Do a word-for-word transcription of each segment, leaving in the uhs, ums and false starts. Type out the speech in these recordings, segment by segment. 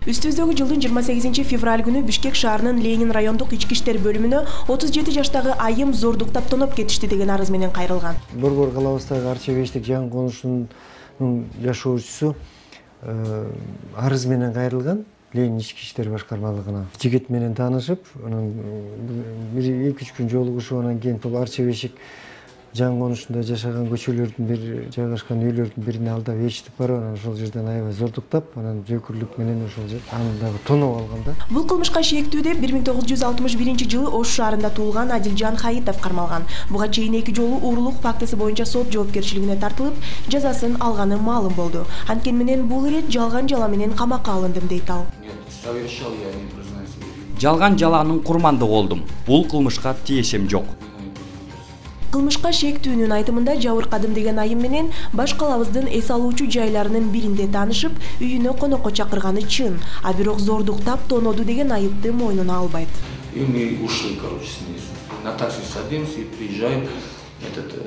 Үстүбүздөгү жылдын жыйырма сегизинчи февраль күнү Бишкек шаарынын Ленин райондук ички иштер бөлүмүнө отуз жети жаштагы айым зордуктап тоноп кетишти деген арыз менен кайрылган. Борбор калабыздагы Арчебештик жаңы конушунун жашоочусу арыз менен кайрылган Ленин ички иштер башкармалыгына. Жигит менен таанышып, анан бир эки үч күн жолугушуп, анан кийин бул Арчебешик жаңы конушунда жашаган көчөлөрдүн бир жайгашкан үйлөрдүн бирине алдап ээрчитип барып, анан ошол жерден аябай зордуктап, анан жөкүрлүк менен ошол жер аны дагы тоноп алган да. Бул кылмышка шектүү деп бир миң тогуз жүз алтымыш биринчи жылы Ош шаарында туулган Адилжан Хаитов кармалган. Буга чейин эки жолу уурулук фактысы боюнча сот жоопкерчилигине тартылып, жазасын алганы маалым болду. Анткени менен бул ирет жалган жала менен камакка алындым дейт ал. Жалган жаланын курмандыгы болдум. Бул кылмышка тиешем жок. Кылмышка шектүүнүн айтымында жабыркадым деген айым менен баш калабыздын эс алуучу жайларынын биринде таанышып, үйүнө конокко чакырганы чын, а бирок зордуктап тоноду деген айыпты мойнуна албайт. И мы ушли, короче, снизу. На такси садимся и приезжаем этот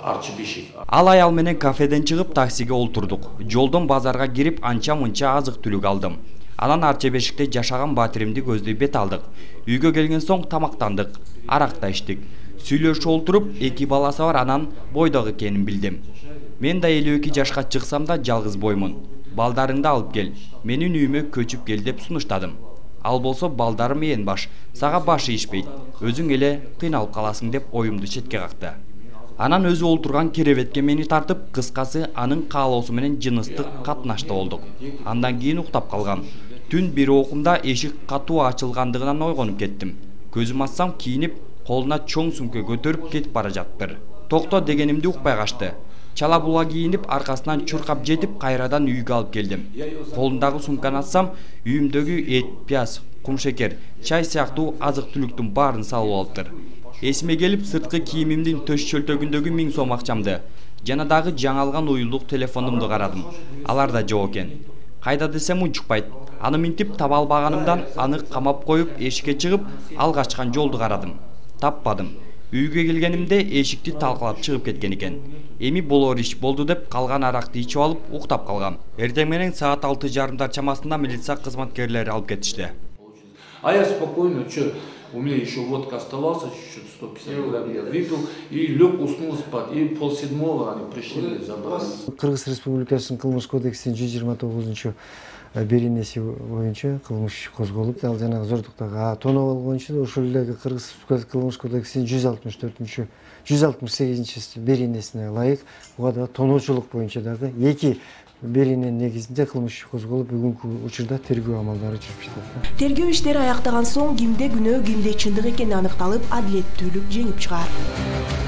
Арчебешик. Ал аял менен кафеден чыгып таксиге олтурдук. Жолдон базарга кирип анча-мынча азык-түлүк алдым. Анан Арчебешикте жашаган батиримди көздөй бет алдык. Үйгө келген соң тамактандык, арак да ичтик. Сүйлөшүп олтуруп, эки баласы бар, анан бойдогу экенин билдим. Мен да элүү эки жашка чыксам да жалгыз боймун. Балдарыңды алып кел, менин үйүмө көчүп кел деп сунуштадым. Ал болсо балдарым ээн баш, сага башы ишпейт, өзүң эле кыйналып каласың деп оюмду четке какты. Анан өзү олтурган керебетке мени тартып, кыскасы анын каалоосу менен жыныстык катнашта болдук. Андан кийин уктап калгам. Түн бир окумда эшик катуу ачылгандыгынан ойгонуп кеттим. Көзүм ачсам кийинип, колуна чоң сумка көтөрүп кетип бара жаптыр. Токто дегенимди укпай качты. Чала була кийинип, аркасынан чуркап жетип, кайрадан үйгө алып келдим. Колундагы сумканы ачсам, үйүмдөгү эт, пияз, кумшекер, чай сыяктуу азык-түлүктүн баарын салып алыптыр. Эсиме келип, сырткы кийимимдин төш чөлтөгүндөгү миң сом акчамды жана дагы жаңалган уюлдук телефонумду карадым. Алар да жок экен. Кайда десем унчукпайт. Аны минтип таба албаганымдан аны камап коюп, эшикке чыгып, ал качкан жолду карадым. Таппадым. Үйгө келгенимде эшикти талкалап чыгып кеткен экен. Эми болор иш болду деп калган аракты ичип алып уктап калгам. Эртең менен саат алты жарымдар чамасында милиция кызматкерлери алып кетишти. А я спокойно, что, у меня еще водка оставался, чуть-чуть сто пятьдесят грамм я выпил и лег, уснул спать. И полседьмого они пришли и забрали. Кыргыз Республикасынын кылмыш кодексинин жүз жыйырма тогузунчу беренеси боюнча кылмыш козголуп, ал жанагы зордуктагы тоноп алуу боюнча ошол эле Кыргыз Республикасы кылмыш кодексинин жүз алтымыш төртүнчү жүз алтымыш сегизинчи беренесине ылайык буга да тоноочулук боюнча дагы эки берененин негизинде кылмыш козголуп, бүгүнкү учурда тергөө амалдары жүрүп жатат. Тергөө иштери аяктаган соң кимде күнөө, кимде чындык экени аныкталып, адилеттүүлүк жеңип чыгаар.